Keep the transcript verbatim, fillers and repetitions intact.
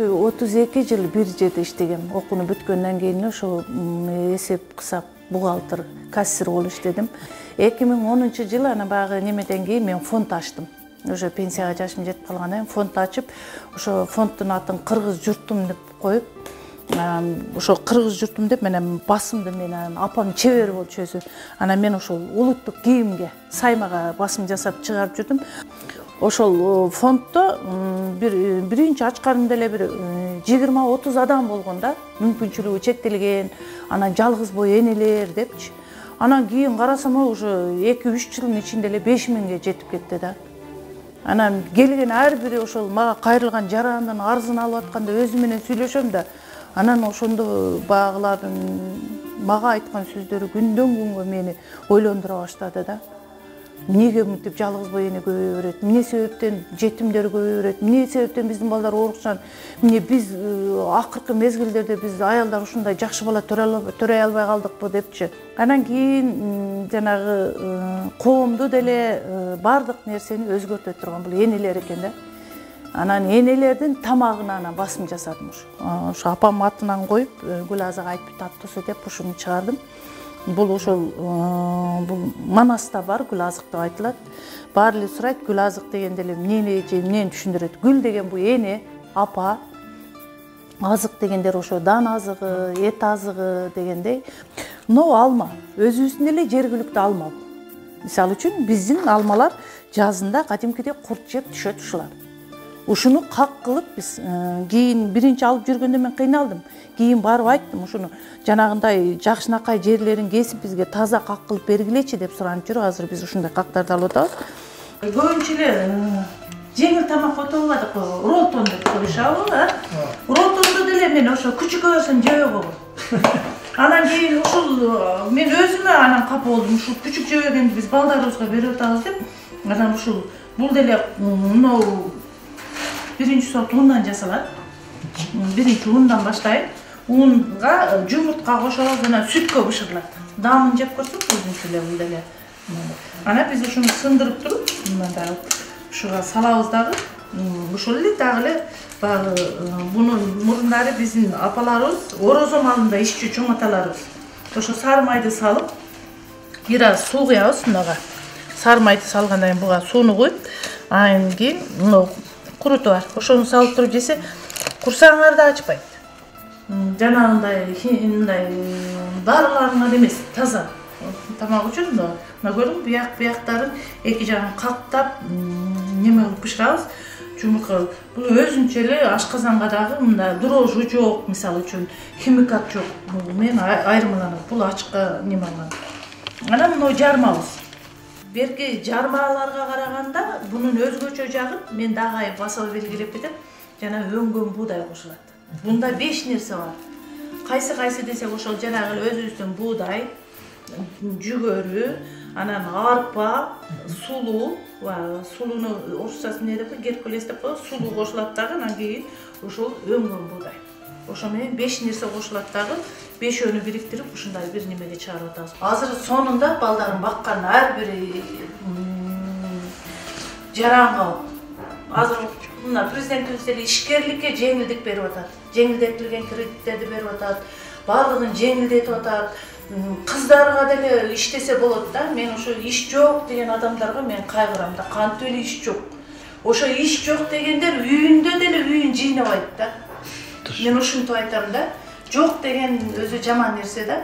отуз эки жыл бир жерде иштегем. Окууну бүткөндөн кийин ошо эсеп кысап бухгалтер, кассир болуп иштедим. эки миң онунчу жылы ана баягы немеден кийин мен фонд ачтым. Уже пенсияга жашым жетип калгандан кийин фонд ачып, ошо фонддун атын Кыргыз журтум деп коюп, ошо Кыргыз журтум деп менен басымды менен апам чебер болчу өзү. Анан мен ошол улуттук кийимге, саймага басым жасап чыгарып жүрдүм. Ошол фонддо бир биринчи ачканымда эле бир жыйырма отуз адам болгон да, мүмкүнчүлүгү чектелген, анан жалгыз бой энелер депчи. Анан кийин карасам уже эки үч жылдын ичинде эле беш миңге жетип кетти да. Анан келген ар бири ошол мага кайрылган жарандан арызын алып атканда өзү менен сүйлөшөм да, анан ошондо багылардын мага айткан сөздөрү күндөн күнгө мени ойлондура баштады да. Эмнеге мынтип жалгыз бой эне көбөйө берет? Эмне себептен жетимдер көбөйө берет? Эмне себептен биздин балдар оорукчан? Эмне биз акыркы мезгилдерде биз аялдар ушундай жакшы бала төрөй албай калдыкпы депчи. Анан кийин жанагы коомду деле бардык нерсени өзгөртө турган бул энелер экен да. Анан энелердин тамагына анан басым жасадым ушу. Ошо апам атынан коюп, Гүлазага айтып таптысы деп ушуну чыгардым. Бул ошол бул Манаста бар Гүлазык деп айтылат. Баары эле сурайт, Гүлазык дегенде эле эмнени же эмнени түшүндүрөт? Гүл деген бул эне, апа. Азык дегендер ошо дан азыгы, эт азыгы дегендей. Мына алма, өзүбүздүн эле жергиликтүү алма. Мисалы үчүн биздин алмалар жазында кадимкидей курт жеп түшөт ушулар. Ушуну как кылып биз кийин биринчи алып жүргөндө мен кыйналдым. Кийин барып айттым, ушуну жанагындай жакшынакай жерлерин кесип бизге таза как кылып бергилечи деп суранып жүрүп, азыр биз ушундай кактарды алып атабыз. Көбүнчө эле жеңил тамак отобадык, ролтон деп коюшабы, а? Ролтонду деле мен ошо күчүкөбөсөм жебей койгом. Анан кийин ушул мен өзүмө анан капа болдум. Ушул күчүк жебегенди биз балдарыбызга берип атабыз деп. Анан ушул бул деле мынау биринчи сорт ундан жасалат. Биринчи ундан баштайт. Унга жумуртка кошобуз, анан сүткө бышырылат. Дамын жеп көрсөк, өзүнчө эле бул деле. Анан биз ушуну сындырып туруп, мындай ушуга салабыз дагы. Ошол эле дагы эле баягы мунун мурдары биздин апаларыбыз орозо малында ишчү чоң аталарыбыз. Ошо сары майды салып, бир аз суу куябыз мынага. Сары майды салгандан кийин буга сууну куюп, анан кийин мына куруту бар. Ошону салып туруп жесе, курсагыңар да ачпайт. Жанагындай мындай дарыларыңар эмес, таза тамак үчүн мына көрдүңбү, бияк бияктарын эки жагын каттап неме кылып бышырабыз. Жумурка бул өзүнчө эле ашказанга дагы мындай дрожжу жок, мисалы үчүн химикат жок. Бул мен айырмаланат, бул ачка неме алган. Анан мына жармабыз. Берки жармаларга караганда бунун өзгөчө жагын мен дагы басып белгилеп кетем. Жана өңгөн буудай кошулат. Бунда беш нерсе бар. Кайсы кайсы десек ошол жанагы өзүбүздүн буудай, жүгөрү, анан арпа, сулуу, сулууну орусчасы эмне деп, геркулес деп коебуз, сулуу кошулат дагы, анан кийин ошол өңгөн буудай. Ошо менен беш нерсе кошулат дагы, бешөөнү бириктирип ушундай бир немеге чыгарып атабыз. Азыр сонунда балдарын баккан ар бири жаран калып. Азыр мына президентибиз деле ишкерликке жеңилдик берип атат. Жеңилдетилген кредиттерди берип атат. Баардыгын жеңилдетип атат. Кыздарга деле иштесе болот да. Мен ошо иш жок деген адамдарга мен кайгырам да. Кантип эле иш жок. Ошо иш жок дегендер үйүндө деле үйүн жыйнабайт да. Мен ушинтип айтам да. Жок деген өзү жаман нерсе да.